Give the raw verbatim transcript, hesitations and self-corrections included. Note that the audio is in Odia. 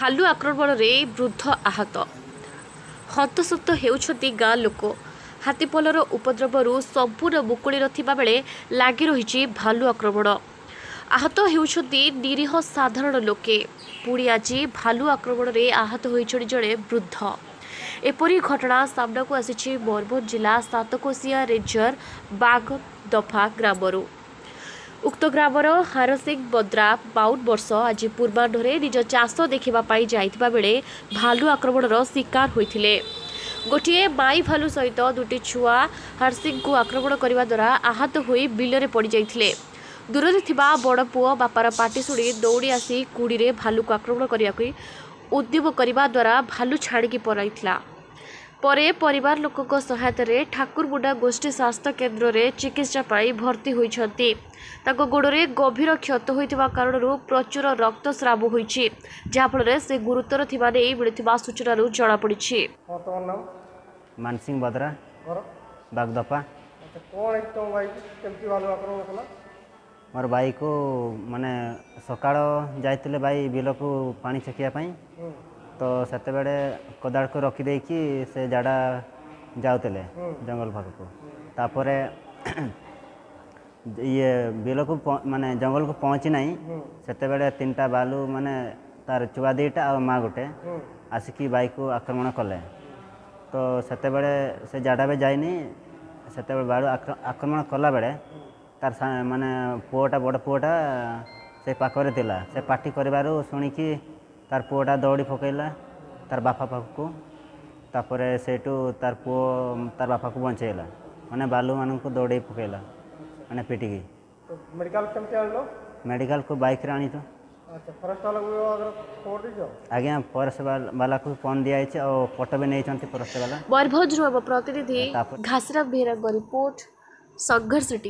ଭାଲୁ ଆକ୍ରମଣରେ ବୃଦ୍ଧ ଆହତ, ହନ୍ତସନ୍ତ ହେଉଛନ୍ତି ଗାଁ ଲୋକ। ହାତୀପଲର ଉପଦ୍ରବରୁ ସମ୍ପୂର୍ଣ୍ଣ ମୁକୁଳି ନଥିବା ବେଳେ ଲାଗି ରହିଛି ଭାଲୁ ଆକ୍ରମଣ। ଆହତ ହେଉଛନ୍ତି ନିରୀହ ସାଧାରଣ ଲୋକେ। ପୁଣି ଆଜି ଭାଲୁ ଆକ୍ରମଣରେ ଆହତ ହୋଇଛନ୍ତି ଜଣେ ବୃଦ୍ଧ। ଏପରି ଘଟଣା ସାମ୍ନାକୁ ଆସିଛି ମୟୂରଭଞ୍ଜ ଜିଲ୍ଲା ସାତକୋଶିଆ ରେଞ୍ଜର ବାଗଦଫା ଗ୍ରାମରୁ। ଉକ୍ତ ଗ୍ରାମର ହାରସିଂ ବଦ୍ରା ବାଉନ ବର୍ଷ ଆଜି ପୂର୍ବାହ୍ନରେ ନିଜ ଚାଷ ଦେଖିବା ପାଇଁ ଯାଇଥିବା ବେଳେ ଭାଲୁ ଆକ୍ରମଣର ଶିକାର ହୋଇଥିଲେ। ଗୋଟିଏ ମାଇ ଭାଲୁ ସହିତ ଦୁଇଟି ଛୁଆ ହରସିଂଙ୍କୁ ଆକ୍ରମଣ କରିବା ଦ୍ୱାରା ଆହତ ହୋଇ ବିଲରେ ପଡ଼ିଯାଇଥିଲେ। ଦୂରରେ ଥିବା ବଡ଼ ପୁଅ ବାପାର ପାଟି ଶୁଣି ଦୌଡ଼ି ଆସି କୁଡ଼ିରେ ଭାଲୁକୁ ଆକ୍ରମଣ କରିବାକୁ ଉଦ୍ୟମ କରିବା ଦ୍ୱାରା ଭାଲୁ ଛାଡ଼ିକି ପଳାଇଥିଲା। ପରେ ପରିବାର ଲୋକଙ୍କ ସହାୟତାରେ ଠାକୁରମୁଣ୍ଡା ଗୋଷ୍ଠୀ ସ୍ୱାସ୍ଥ୍ୟ କେନ୍ଦ୍ରରେ ଚିକିତ୍ସା ପାଇଁ ଭର୍ତ୍ତି ହୋଇଛନ୍ତି। ତାଙ୍କ ଗୋଡ଼ରେ ଗଭୀର କ୍ଷତ ହୋଇଥିବା କାରଣରୁ ପ୍ରଚୁର ରକ୍ତସ୍ରାବ ହୋଇଛି, ଯାହାଫଳରେ ସେ ଗୁରୁତର ଥିବା ନେଇ ମିଳିଥିବା ସୂଚନାରୁ ଜଣାପଡ଼ିଛି। ହଁ, ତମ ନାମ? ମାନସିଂ ବଦ୍ରା। ଘର? ବାଗଦପା। ଆଚ୍ଛା, କ'ଣ ହେଇଛି ତମ ଭାଇକୁ? କେମିତି ଭାଲୁ ଆକ୍ରମଣ କଲା? ମୋର ଭାଇକୁ ମାନେ ସକାଳ ଯାଇଥିଲେ ଭାଇ ବିଲକୁ ପାଣି ଛେକିବା ପାଇଁ। ହୁଁ ତ ସେତେବେଳେ କୋଦାଳକୁ ରଖିଦେଇକି ସେ ଜାଡ଼ା ଯାଉଥିଲେ ହୁଁ ଜଙ୍ଗଲ ପାଖକୁ। ତାପରେ ଇଏ ବିଲକୁ ପ- ମାନେ ଜଙ୍ଗଲକୁ ପହଞ୍ଚି ନାହିଁ, ହୁଁ ସେତେବେଳେ ତିନିଟା ଭାଲୁ, ମାନେ ତାର ଛୁଆ ଦୁଇଟା ଆଉ ମା ଗୋଟେ, ହୁଁ ଆସିକି ଭାଇକୁ ଆକ୍ରମଣ କଲେ। ତ ସେତେବେଳେ ସେ ଜାଡ଼ା ବି ଯାଇନି। ସେତେବେଳେ ଭାଲୁ ଆକ୍ର- ଆକ୍ରମଣ କଲାବେଳେ ତାର ସା- ମାନେ ପୁଅଟା, ବଡ଼ ପୁଅଟା ସେ ପାଖରେ ଥିଲା। ସେ ପାଟି କରିବାରୁ ଶୁଣିକି ତାର ପୁଅଟା ଦୌଡ଼ି ପକେଇଲା ତାର ବାପା ପାଖକୁ। ତାପରେ ସେଇଠୁ ତାର ପୁଅ ତାର ବାପାକୁ ବଞ୍ଚେଇଲା, ମାନେ ଭାଲୁମାନଙ୍କୁ ଦୌଡ଼େଇ ପକେଇଲା, ମାନେ ପିଟିକି। ତ ମେଡ଼ିକାଲ କେମିତି ଆଣିଲ? ମେଡ଼ିକାଲକୁ ବାଇକ୍ରେ ଆଣିଛୁ। ଆଚ୍ଛା, ଫରେଷ୍ଟ ବାଲାକୁ ଆଗରେ ଖବର ଦେଇଛ? ଆଜ୍ଞା, ଫରେଷ୍ଟ ବାଲାକୁ ଫୋନ୍ ଦିଆହେଇଛି ଆଉ ଫଟୋ ବି ନେଇଛନ୍ତି ଫରେଷ୍ଟ ବାଲା। ମୟୂରଭଞ୍ଜରୁ ଆମ ପ୍ରତିନିଧି ତାପରେ ଘାସିରାମ ବେହେରାଙ୍କ ରିପୋର୍ଟ, ସଂଘର୍ଷ ଟିଭି।